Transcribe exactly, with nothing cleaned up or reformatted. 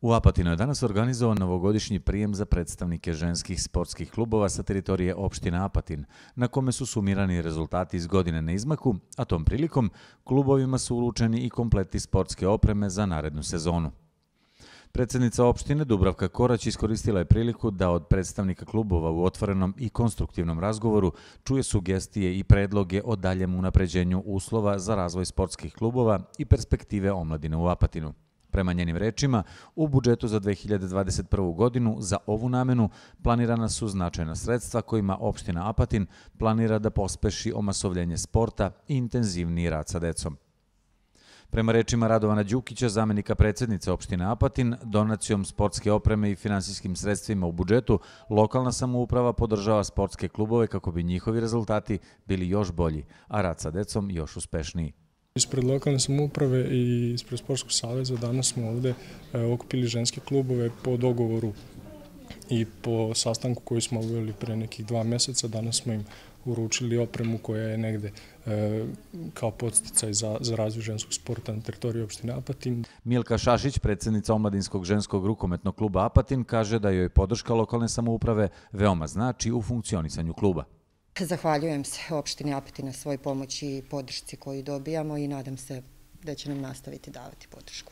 U Apatinu je danas organizovan novogodišnji prijem za predstavnike ženskih sportskih klubova sa teritorije opštine Apatin, na kome su sumirani rezultati iz godine na izmaku, a tom prilikom klubovima su uručeni i kompleti sportske opreme za narednu sezonu. Predsjednica opštine Dubravka Korać iskoristila je priliku da od predstavnika klubova u otvorenom i konstruktivnom razgovoru čuje sugestije i predloge o daljem unapređenju uslova za razvoj sportskih klubova i perspektive omladine u Apatinu. Prema njenim rečima, u budžetu za dve hiljade dvadeset prvu. godinu za ovu namenu planirana su značajna sredstva kojima opština Apatin planira da pospeši omasovljenje sporta i intenzivniji rad sa decom. Prema rečima Radovana Đukića, zamenika predsjednice opštine Apatin, donacijom sportske opreme i finansijskim sredstvima u budžetu, lokalna samouprava podržava sportske klubove kako bi njihovi rezultati bili još bolji, a rad sa decom još uspešniji. Ispred lokalne samouprave i ispred Sportskog saveza danas smo ovde okupili ženske klubove po dogovoru i po sastanku koji smo obavili pre nekih dva meseca. Danas smo im uručili opremu koja je negde kao podsticaj za, za razvoj ženskog sporta na teritoriji opštine Apatin. Milka Šašić, predsjednica Omladinskog ženskog rukometnog kluba Apatin, kaže da joj podrška lokalne samouprave veoma znači u funkcionisanju kluba. Zahvaljujem se opštini Apatin na svoj pomoći i podršci koju dobijamo i nadam se da će nam nastaviti davati podršku.